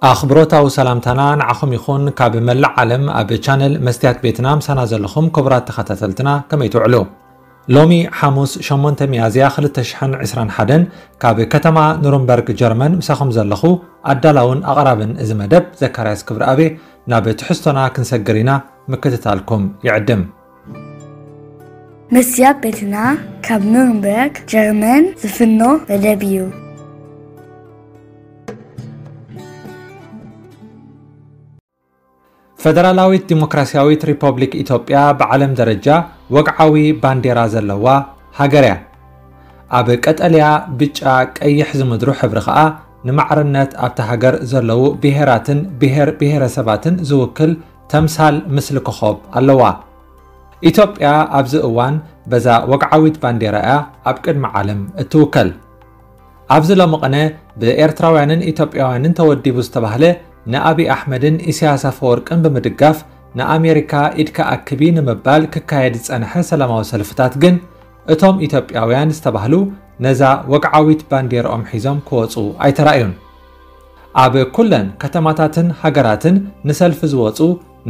ኣኽብሮታዊ ሰላምታና ንዓኹም ይኹን። ካብ መላእ ዓለም ኣብ ቻነል መስትያት ቤትና ምሳና ዘለኹም ክቡራት ተኸታተልትና ከመይ ትውዕሉ? ሎሚ ሓሙስ ሸሞንተ ሚያዝያ ክልተ ሽሕን ዕስራን ሓደን ካብ ከተማ ኑርንበርግ ጀርመን ምሳኹም ዘለኹ ኣዳላውን ኣቕራብን እዚ መደብ ዘካርያስ ክብረኣቤ። ናብ ትሕዝቶና ክንሰግር ኢና፣ ምክትታልኩም ይዕድም። መስትያት ቤትና ካብ ኑርንበርግ ጀርመን ዝፍኖ መደብ እዩ። ፈደራላዊት ዲሞክራሲያዊት ሪፐብሊክ ኢትዮጵያ ብዓለም ደረጃ ወግዓዊ ባንዴራ ዘለዋ ሃገር እያ። ኣብ ቀጠልያ፣ ብጫ፣ ቀይሕ ዝምድሩ ሕብሪ ኸኣ ንማዕርነት ኣብታ ሃገር ዘለዉ ብሄራትን ብሄር ብሄረሰባትን ዝውክል ተምሳል ምስሊ ኮኾብ ኣለዋ። ኢትዮጵያ ኣብዚ እዋን በዛ ወግዓዊት ባንዴራ እያ ኣብ ቅድሚ ዓለም እትውከል። ኣብዚ ሎሚ ቅነ ብኤርትራውያንን ኢትዮጵያውያንን ተወዲቡ ዝተባህለ ንኣብይ ኣሕመድን ኢሳያስ ኣፈወርቅን ብምድጋፍ ንኣሜሪካ ኢድካ ኣክቢ ንምባል ክካየድ ዝጸንሐ ሰላማዊ ሰልፍታት ግን እቶም ኢትዮጵያውያን ዝተባህሉ ነዛ ወግዓዊት ባንዴርኦም ሒዞም ክወጹ ኣይተራእዩን። ኣብ ኩለን ከተማታትን ሃገራትን ንሰልፊ ዝወጹ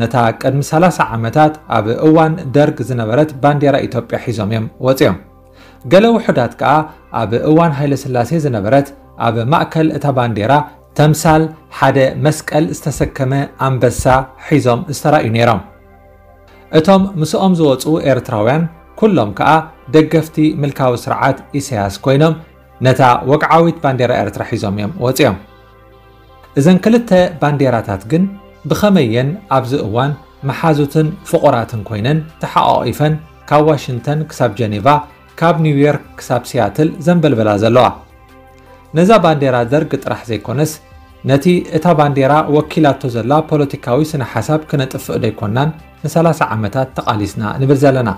ነታ ቅድሚ ሰላሳ ዓመታት ኣብ እዋን ደርግ ዝነበረት ባንዴራ ኢትዮጵያ ሒዞም እዮም ወጺኦም። ገለ ውሑዳት ከኣ ኣብ እዋን ሃይለስላሴ ዝነበረት ኣብ ማእከል እታ ባንዴራ ተምሳል ሓደ መስቀል ዝተሰከመ ኣንበሳ ሒዞም ዝተራእዩ ነይሮም። እቶም ምስኦም ዝወጹ ኤርትራውያን ኩሎም ከኣ ደገፍቲ ምልካዊ ስርዓት ኢሳያስ ኮይኖም ነታ ወግዓዊት ባንዴራ ኤርትራ ሒዞም እዮም ወጺኦም። እዘን ክልተ ባንዴራታት ግን ብኸመየን ኣብዚ እዋን መሓዙትን ፍቑራትን ኮይነን ተሓቋቒፈን ካብ ዋሽንግተን ክሳብ ጀኔቫ ካብ ኒውዮርክ ክሳብ ሲያትል ዘንበልበላ ዘለዋ። ነዛ ባንዴራ ደርግ ጥራሕ ዘይኮነስ ነቲ እታ ባንዴራ ወኪላቶ ዘላ ፖለቲካዊ ስነ ሓሳብ ክነጥፍእ ዶ ኣይኮናን ንሰላሳ ዓመታት ተቓሊስና ንብል ዘለና?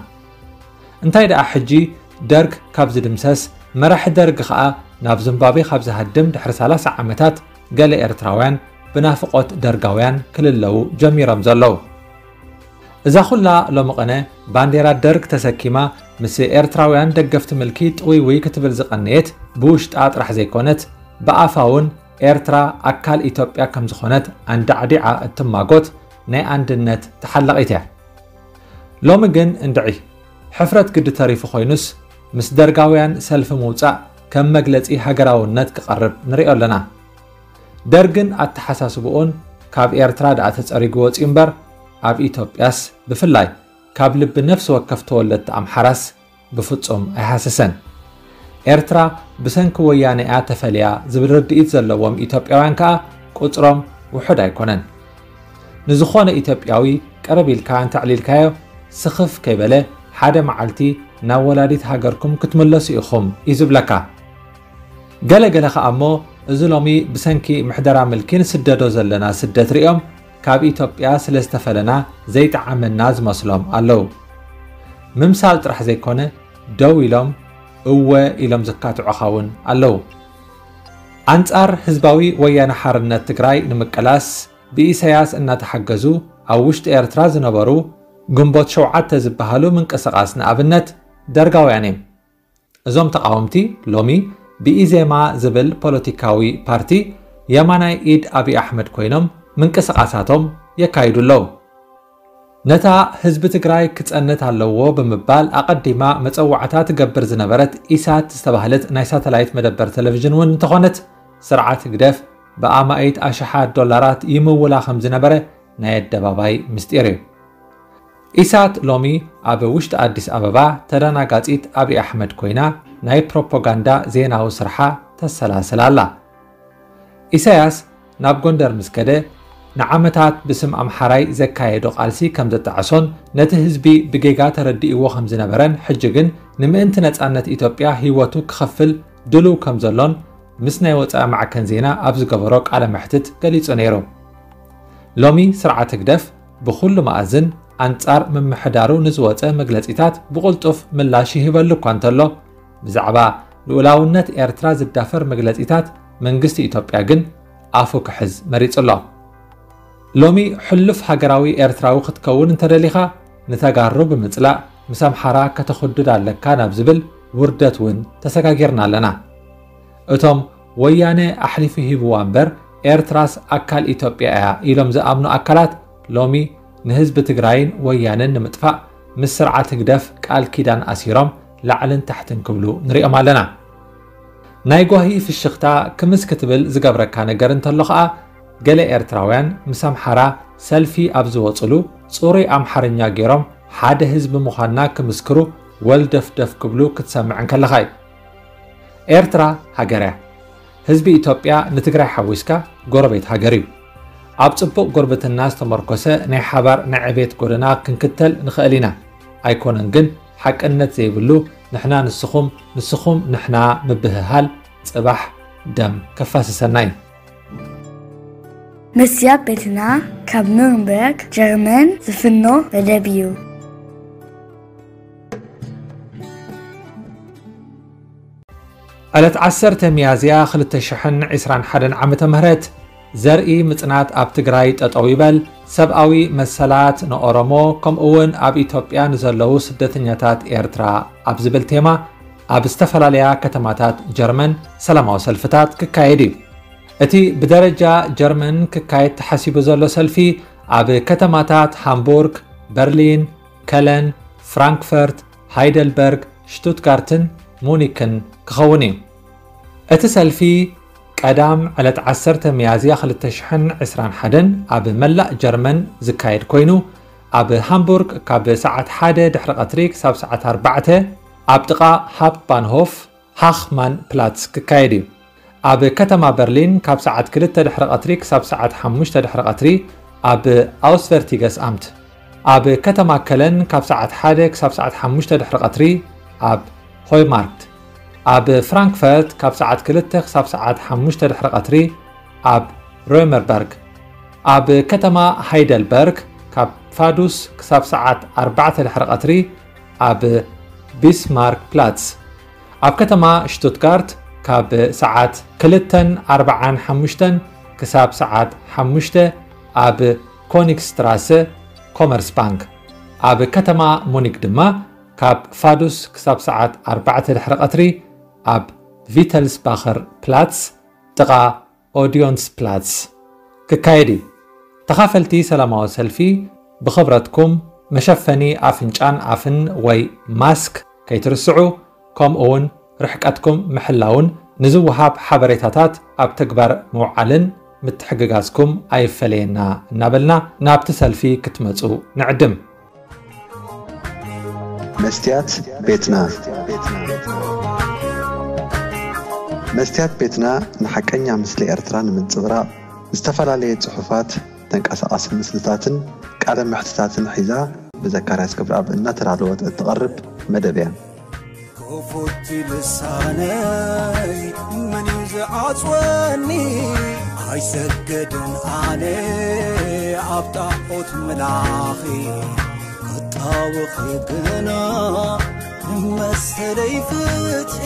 እንታይ ደኣ ሕጂ ደርግ ካብ ዝድምሰስ መራሒ ደርግ ኸኣ ናብ ዝምባብዌ ካብ ዝሃድም ድሕሪ ሰላሳ ዓመታት ገለ ኤርትራውያን ብናፍቖት ደርጋውያን ክልለዉ ጀሚሮም ዘለዉ። እዛ ኩላ ሎሚ ቅነ ባንዴራ ደርግ ተሰኪማ ምስ ኤርትራውያን ደገፍቲ ምልኪ ጥውይውይ ክትብል ዝቐነየት ብውሽጣ ጥራሕ ዘይኮነት ብኣፋ እውን ኤርትራ ኣካል ኢትዮጵያ ከም ዝኾነት ኣንዳዕዲዓ እትማጎት ናይ ኣንድነት ተሓላቒት እያ። ሎሚ ግን እንድዒ ሕፍረት ግዲ ተሪፉ ኮይኑስ ምስ ደርጋውያን ሰልፊ ምውጻእ ከም መግለጺ ሃገራውነት ክቐርብ ንሪኦ ኣለና። ደርግን ኣተሓሳስብኡን ካብ ኤርትራ ደኣ ተጸሪጉ ወጺኡ እምበር ኣብ ኢትዮጵያስ ብፍላይ ካብ ልቢ ነፍሲ ወከፍ ተወለድቲ ኣምሓራስ ብፍጹም ኣይሃሰሰን። ኤርትራ ብሰንኪ ወያነ እያ ተፈልያ ዝብል ርድኢት ዘለዎም ኢትዮጵያውያን ከኣ ቁጽሮም ውሑድ ኣይኮነን። ንዝኾነ ኢትዮጵያዊ ቅርብ ኢልካ እንተዕሊልካዮ ስኽፍ ከይበለ ሓደ መዓልቲ ናብ ወላዲት ሃገርኩም ክትምለሱ ኢኹም እዩ ዝብለካ። ገለ ገለ ኸኣ እሞ እዚ ሎሚ ብሰንኪ ምሕደራ ምልኪ ንስደዶ ዘለና ስደት ሪኦም ካብ ኢትዮጵያ ስለ ዝተፈለና ዘይጠዓመና ዝመስሎም ኣለዉ። ምምሳል ጥራሕ ዘይኮነ ደው ኢሎም እወ ኢሎም ዝካትዑኻ እውን ኣለዉ። ኣንጻር ህዝባዊ ወያነ ሓርነት ትግራይ ንምቅላስ ብኢሳያስ እናተሓገዙ ኣብ ውሽጢ ኤርትራ ዝነበሩ ግንቦት ሸውዓተ ዝበሃሉ ምንቅስቓስ ንኣብነት ደርጋውያን እዮም። እዞም ተቓወምቲ ሎሚ ብኢዜማ ዝብል ፖለቲካዊ ፓርቲ የማናይ ኢድ ኣብይ ኣሕመድ ኮይኖም ምንቅስቓሳቶም የካይዱ ኣለዉ። ነታ ህዝቢ ትግራይ ክጸንት ኣለዎ ብምባል ኣቐዲማ መጸዋዕታ ትገብር ዝነበረት ኢሳት ዝተባህለት ናይ ሳተላይት መደበር ቴሌቪዥን እውን እንተኾነት ስርዓት ህግደፍ ብኣማኢት ኣሽሓት ዶላራት ይምውላ ከም ዝነበረ ናይ ኣደባባይ ምስጢር እዩ። ኢሳት ሎሚ ኣብ ውሽጢ ኣዲስ ኣበባ ተደናጋጺት ኣብይ ኣሕመድ ኮይና ናይ ፕሮፓጋንዳ ዜናዊ ስርሓ ተሰላስል ኣላ። ኢሳያስ ናብ ጎንደር ምስ ከደ ንዓመታት ብስም ኣምሓራይ ዘካየዶ ቃልሲ ከም ዘጣዕሶን ነቲ ህዝቢ ብጌጋ ተረዲእዎ ከም ዝነበረን ሕጂ ግን ንምእንቲ ነጻነት ኢትዮጵያ ህይወቱ ክኸፍል ድሉው ከም ዘሎን ምስ ናይ ወጻኢ ማዕከን ዜና ኣብ ዝገበሮ ቃለ መሕትት ገሊጹ ነይሩ። ሎሚ ስርዓት ህግደፍ ብኹሉ መኣዝን ኣንጻር ምምሕዳሩ ንዝወጸ መግለጺታት ብቕልጡፍ ምላሽ ይህበሉ እኳ እንተሎ ብዛዕባ ልኡላውነት ኤርትራ ዝዳፈር መግለጺታት መንግስቲ ኢትዮጵያ ግን ኣፉ ክሕዝ መሪጹ ኣሎ። ሎሚ ሕሉፍ ሃገራዊ ኤርትራዊ ክትከውን እንተደሊኻ ንተጋሩ ብምጽላእ ምስ ኣምሓራ ከተኹድድ ኣለካ ናብ ዝብል ውርደት እውን ተሰጋጊርና ኣለና። እቶም ወያነ ኣሕሊፉ ሂብዋ እምበር ኤርትራስ ኣካል ኢትዮጵያ እያ ኢሎም ዝኣምኑ ኣካላት ሎሚ ንህዝቢ ትግራይን ወያነን ንምጥፋእ ምስ ስርዓት ህግደፍ ቃል ኪዳን ኣሲሮም ላዕልን ታሕትን ክብሉ ንሪኦም ኣለና። ናይ ጓሂ ፍሽኽታ ክምስ ክትብል ዝገብረካ ነገር እንተሎ ኸኣ፣ ገለ ኤርትራውያን ምስ ኣምሓራ ሰልፊ ኣብ ዝወጽሉ፣ ጽሩይ ኣምሓርኛ ገይሮም ሓደ ህዝቢ ምዃንና ክምስክሩ ወልደፍደፍ ክብሉ ክትሰምዕ እንከለኻ እዩ። ኤርትራ ሃገር እያ። ህዝቢ ኢትዮጵያ ንትግራይ ሓዊስካ ጎረቤት ሃገር እዩ። ኣብ ጽቡቕ ጉርብትና ዝተመርኮሰ ናይ ሓባር ናይ ዕቤት ጎደና ክንክተል ንኽእል ኢና። ኣይኮነን ግን፣ ሓቅነት ዘይብሉ ንሕና ንስኹም፣ ንስኹም ንሕና ምብህሃል ጽባሕ ደም ከፋስሰና እዩ። መስትያት ቤትና ካብ ኑርንበርግ ጀርመን ዝፍኖ መደብ እዩ። ዕለት ዓሰርተ ሚያዝያ ክልተ ሽሕን ዕስራን ሓደን ዓመተ ምህረት ዘርኢ ምጽናት ኣብ ትግራይ ጠጠው ይበል፣ ሰብኣዊ መሰላት ንኦሮሞ ከምኡ እውን ኣብ ኢትዮጵያ ንዘለዉ ስደተኛታት ኤርትራ ኣብ ዝብል ቴማ ኣብ ዝተፈላለያ ከተማታት ጀርመን ሰላማዊ ሰልፍታት ክካየድ እዩ። እቲ ብደረጃ ጀርመን ክካየድ ተሓሲቡ ዘሎ ሰልፊ ኣብ ከተማታት ሃምቡርግ፣ በርሊን፣ ከለን፣ ፍራንክፈርት፣ ሃይደልበርግ፣ ሽቱትጋርትን ሙኒክን ክኸውን እዩ። እቲ ሰልፊ ቀዳም ዕለት ዓሰርተ ሚያዝያ ክልተ ሽሕን ዕስራን ሓደን ኣብ መላእ ጀርመን ዝካየድ ኮይኑ፣ ኣብ ሃምቡርግ ካብ ሰዓት ሓደ ድሕሪ ቀትሪ ክሳብ ሰዓት ኣርባዕተ ኣብ ጥቓ ሃፕባንሆፍ ሃኽማን ፕላትስ ክካየድ እዩ። ኣብ ከተማ በርሊን ካብ ሰዓት ክልተ ድሕሪ ቀትሪ ክሳብ ሰዓት ሓሙሽተ ድሕሪ ቀትሪ ኣብ ኣውስቨርቲገስ ኣምት፣ ኣብ ከተማ ከለን ካብ ሰዓት ሓደ ክሳብ ሰዓት ሓሙሽተ ድሕሪ ቀትሪ ኣብ ሆይማርክት፣ ኣብ ፍራንክፈርት ካብ ሰዓት ክልተ ክሳብ ሰዓት ሓሙሽተ ድሕሪ ቀትሪ ኣብ ሮመርበርግ፣ ኣብ ከተማ ሃይደልበርግ ካብ ፋዱስ ክሳብ ሰዓት ኣርባዕተ ድሕሪ ቀትሪ ኣብ ቢስማርክ ፕላትስ፣ ኣብ ከተማ ሽቱትጋርት ካብ ሰዓት ክልተን ኣርባዓን ሓሙሽተን ክሳብ ሰዓት ሓሙሽተ ኣብ ኮኒግስትራሰ ኮመርስባንክ፣ ኣብ ከተማ ሙኒክ ድማ ካብ ፋዱስ ክሳብ ሰዓት ኣርባዕተ ድሕሪ ቀትሪ ኣብ ቪተልስባኸር ፕላትስ ጥቓ ኦዲዮንስ ፕላትስ ክካየድ እዩ። ተኻፈልቲ ሰላማዊ ሰልፊ ብኽብረትኩም መሸፈኒ ኣፍንጫን ኣፍን ወይ ማስክ ከይትርስዑ፣ ከምኡ እውን ርሕቀትኩም ምሕላውን ንዝወሃብ ሓበሬታታት ኣብ ተግባር ምውዓልን ምትሕግጋዝኩም ኣይፈለየና እናበልና ናብቲ ሰልፊ ክትመጹ ንዕድም። መስትያት ቤትና። መስትያት ቤትና ንሓቀኛ ምስሊ ኤርትራ ንምንጽብራቕ ዝተፈላለየ ጽሑፋት፣ ተንቀሳቓሲ ምስልታትን ቃለ መሕትታትን ሒዛ ብዘካርያስ ክብረኣብ እናተዳለወት እትቐርብ መደብ እያ። ክፉት ልሳነይ መን እዩ ዝዓጽወኒ? ኣይሰገድን ኣነ ኣብ ጣዖት ምላኺ፣ ክጣወኺ ግና መሰለይ ፍትሒ።